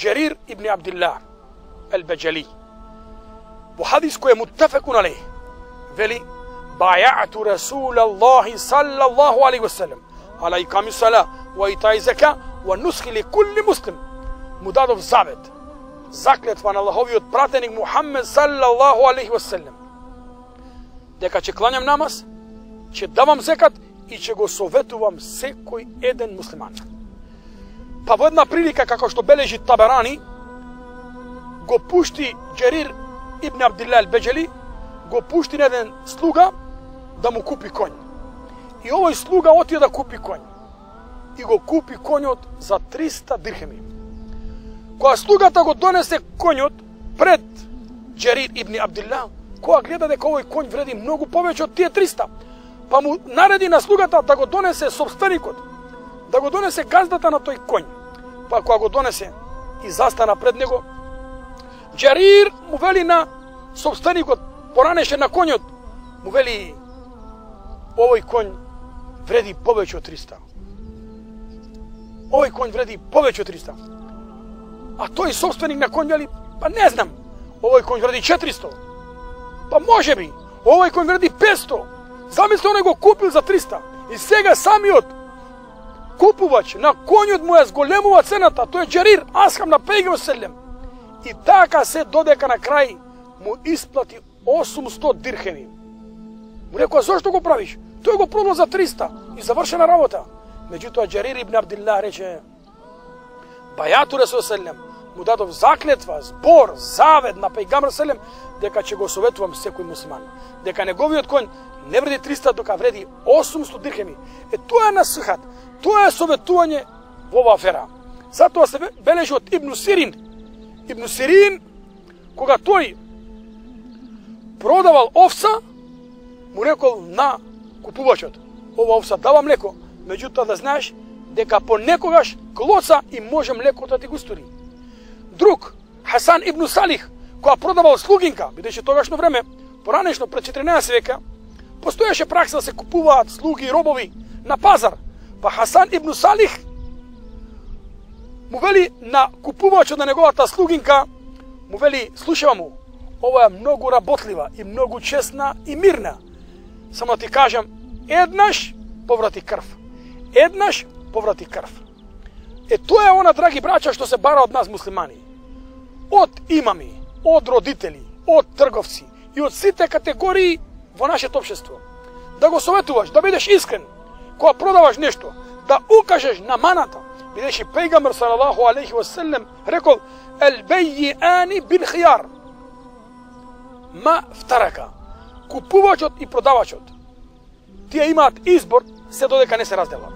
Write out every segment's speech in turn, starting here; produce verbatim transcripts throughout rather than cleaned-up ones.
Джерир ибн Абдилlah al-Bajali. Во хадис кој е муттафекун алейх, вели: "Баја'ту Расулаллахи саллаллаху алейхи ва саллем ала иками сала ва итаи зака ва нусхи ли кулли муслим." Му дадов завет, заклетва на Аллаховиот пратеник Мухаммед саллаллаху алейхи ва саллем, дека ќе кланјам намаз, ќе давам зекат и ќе го советувам секој еден муслиман. Па во една прилика, како што бележи Табарани, го пушти Джерир ибн Абдилlah al-Bajali, го пушти на еден слуга да му купи конј. И овој слуга отиде да купи конј. И го купи конјот за триста дирхеми. Кога слугата го донесе конјот пред Джерир ибн Абдилlah, која гледа дека овој конј вреди многу повеќе од тие триста, па му нареди на слугата да го донесе собственикот, да го донесе газдата на тој конј. Па кога го донесе и застана пред него, Джерир му вели на собственикот, поранеше на конјот, му вели: "Овој конј вреди повеќе од триста. Овој конј вреди повеќе од триста." А тој собственик на конј вели: "Па не знам, овој конј вреди четиристо. Па може би, овој конј вреди петсто. Замисли, оној го купил за триста. И сега самиот купувач на конјот му ја зголемува цената, тој е Джерир, асхаб на пејгамбер селем. И така се додека на крај му исплати осумсто дирхеми. Му рекоа: "Зошто го правиш? Тој го продал за триста и завршена работа." Меѓутоа Джерир ибн Абдилlah рече: "Бајату Расул селем, му дадов заклетва, збор, завет на пејгамбер селем, дека ќе го советувам секој муслиман, дека неговиот конј не вреди триста, дока вреди осумсто дирхеми." Е, тоа е насихат, тоа е советување во оваа афера. Затоа се бележи од Ибн Сирин. Ибн Сирин, кога тој продавал овца, му рекол на купувачот: "Ова овца дава млеко, меѓутоа да знаеш дека понекогаш клоца и може млекото да ти го стури." Друг, Хасан ибн Салих, кога продавал слугинка, бидејќи тогашно време, поранешно пред четиринаесет века, постоеше пракса да се купуваат слуги и робови на пазар. Па Хасан ибн Салих му вели на купувачот на неговата слугинка, му вели: "Слушава му, ова е многу работлива и многу честна и мирна. Само ти кажам, еднаш поврати крв. Еднаш поврати крв." Е, тоа е она, драги браќа, што се бара од нас муслимани. Од имами, од родители, од трговци и од сите категории во нашето општество. Да го советуваш, да бидеш искрен. Кога продаваш нешто, да укажеш на маната, бидејќи пејгамбер салаллаху алейхи ва саллем рекол: "Ел-бејјани бил-хијар." Ма втарака. Купувачот и продавачот, тие имаат избор се додека не се разделат.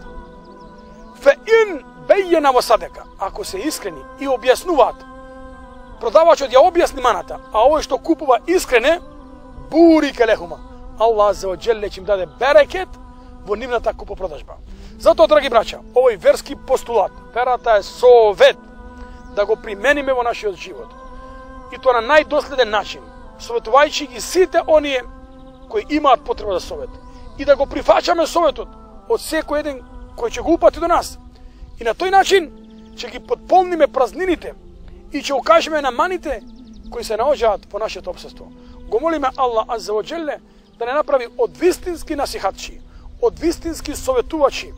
Фе ин бејјена во садека, ако се искрени и објаснуваат, продавачот ја објасни маната, а овој што купува искрене, бури келехума, Аллах азza ва џелле ќе им даде берекет во нивната купопродажба. Затоа, драги браќа, овој верски постулат, верата е совет, да го примениме во нашиот живот. И тоа на најдоследен начин, советувајќи ги сите оние кои имаат потреба за совет. И да го прифачаме советот од секој еден кој ќе го упати до нас. И на тој начин ќе ги потполниме празнините и ќе укажеме на маните кои се наоѓаат во нашето општество. Го молиме Аллах азza ва џелле да не направи од вистински насихатчи, од вистински советувачи.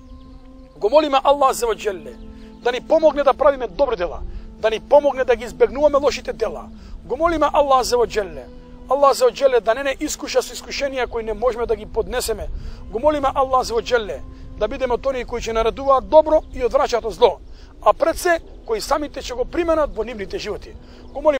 Го молиме Аллах азza ва џелле да ни помогне да правиме добри дела, да ни помогне да ги избегнуваме лошите дела. Го молиме Аллах азza ва џелле, Аллах азza ва џелле да не не искуша со искушенија кои не можеме да ги поднесеме. Го молиме Аллах азza ва џелле да бидеме од оние кои ќе наредуваат добро и одвраќаат од зло, а пред се кои самите ќе го применат во нивните животи. Го молиме